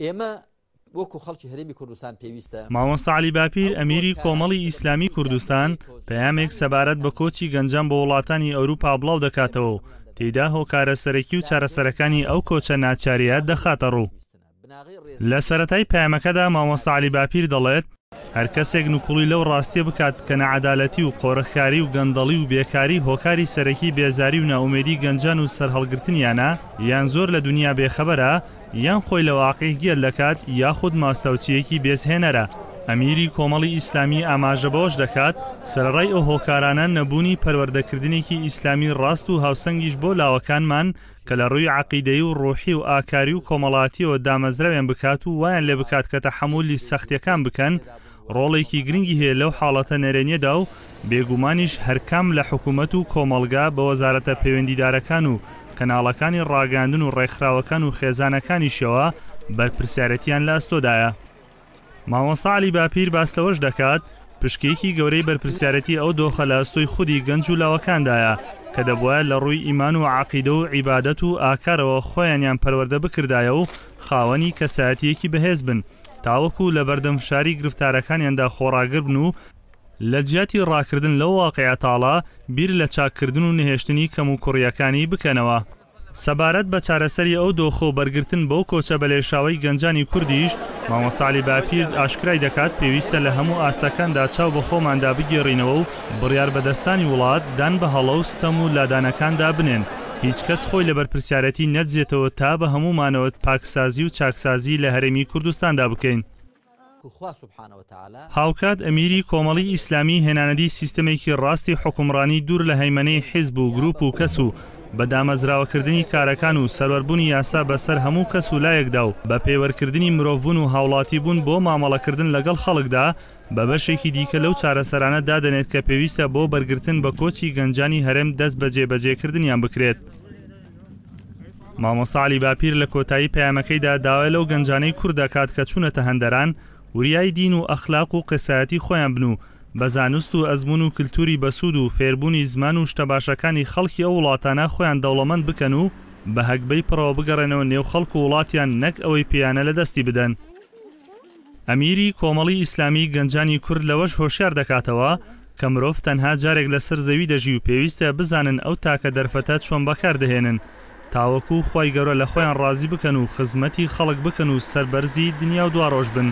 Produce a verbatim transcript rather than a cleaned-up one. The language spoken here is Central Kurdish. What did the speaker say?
ئێمە وەکو خەڵکی هەرێمی کوردستان پێویستە. مامۆستا عەلی باپیر ئەمیری کۆمەڵی ئیسلامی کوردستان پەیامێک سەبارەت بە کۆچی گەنجان بۆ وڵاتانی ئەوروپا بڵاو دەکاتەوە و تێیدا هۆکارە سەرەکی و چارەسەرەکانی ئەو کۆچە ناچاریە دەخاتە ڕوو. لە سەرەتای پەیامەکەدا مامۆستا عەلی باپیر دەڵێت هەر کەسێک نکوڵی لەو ڕاستیە بکات کە نەعەدالەتی و قۆرخکاری و گەندەڵی و بێکاری هۆکاری سەرەکی بێزاری و ناومێدی گەنجان و سەرهەڵگرتنیانە، یان زۆر لە دنیا بێخەبەرە، یان خۆی لە واقع گێل دەکات، یاخود ماستاوچییەکی بێزهێنەرە. ئەمیری کۆمەڵی ئیسلامی ئاماژە بەوەش دەکات سەرەڕای ئەو هۆکارانە نەبوونی پەروەردەکردنێکی ئیسلامی ڕاست و هاوسەنگیش بۆ لاوەکانمان کە لە ڕووی عەقیدەیی و ڕۆحی و ئاکاری و کۆمەڵاتیەوە دامەزراویان بکات و وایان لێ بکات کە تەحەمولی سەختیەکان بکەن، ڕۆڵێکی گرنگی هەیە لەو حاڵەتە نەرێنیەدا و بێگومانیش هەرکام لە حکوومەت و کۆمەڵگا بە وەزارەتە پەیوەندیدارەکان و کەناڵەکانی ڕاگەاندن و ڕێکخراوەکان و خێزانەکانیشەوە بەرپرسیارەتیان لە ئەستۆدایە. مامۆستا عەلی باپیر باس لەوەش دەکات پشکێکی گەورەی بەرپرسیارەتی ئەو دۆخە لە ئەستۆی خودی گەنج و لاوەکاندایە کە دەبوایە لە ڕووی ئیمان و عەقیدە و عیبادەت و ئاکارەوە خۆیانیان پەروەردە بکردایە و خاوەنی کەسایەتیەکی بەهێز بن تاوەکو لە بەردەم فشاری گرفتارەکانیاندا خۆڕاگر بن و لە جیاتی ڕاکردن لەو واقعە تاڵە بیر لە چاککردن و نەهێشتنی کەم و کوڕیەکانی بکەنەوە. سەبارەت بە چارەسەری ئەو دۆخە و بەرگرتن بەو کۆچە بەلێشاوەی گەنجانی کوردیش، مامۆستا عەلی باپیر ئاشکرای دەکات پێویستە لە هەموو ئاستەکاندا چاو بە خۆماندا بگێڕینەوە و بڕیار بەدەستانی وڵات دان بە هەڵە و ستەم و لادانەکاندا بنێن، هیچ کەس خۆی لە بەرپرسیارەتی نەدزێتەوە تا بە هەموومانەوە پاکسازی و چاکسازی لە هەرێمی کوردستاندا بکەین. هاوکات ئەمیری کۆمەڵی ئیسلامی هێنانەدی سیستەمێکی ڕاستی حوکمڕانی دوور لە هەیمەنەی حیزب و گروپ و کەس و بە دامەزراوەکردنی کارەکان و سەروەربوونی یاسا بەسەر هەموو کەس و لایەکدا و بە پێوەرکردنی مرۆڤبوون و هاوڵاتیبوون بۆ مامەڵەکردن لەگەڵ خەڵکدا بە بەشێکی دیکە لەو چارەسەرانە دادەنێت کە پێویستە بۆ بەرگرتن بە کۆچی گەنجانی هەرێم دەست بە جێبەجێکردنیان بکرێت. مامۆستا عەلی باپیر لە کۆتایی پەیامەکەیدا داوای لەو گەنجانەی کورد دەکات کە چوونەتە هەندەران وریای دین و ئەخلاق و قسایەتی خۆیان بن و بە زانست و ئەزمون و کللتوری بەسوود و فێربوونی زمان و شتە باشەکانی خەڵکی ئەو وڵاتانە خۆیان دەوڵەمەند بکەن و بە هەگبەی پڕەوە بگەڕێنەوە نێو خەڵک و وڵاتیان نەک ئەوەی پێیانە لە دەستی بدەن. ئەمیری کۆمەڵی ئیسلامی گەنجانی کورد لەوەش هۆشیار دەکاتەوە کە مرۆڤ تەنها جارێک لەسەر زەوی دەژی و پێویستە بزانن ئەو تاکە دەرفەتە چۆن بەکار دەهێنن تاوەکو خوای گەورە لە خۆیان ڕازی بکەن و خزمەتی خەڵک بکەن و سەربەرزی دنیا و دواڕۆژ بن.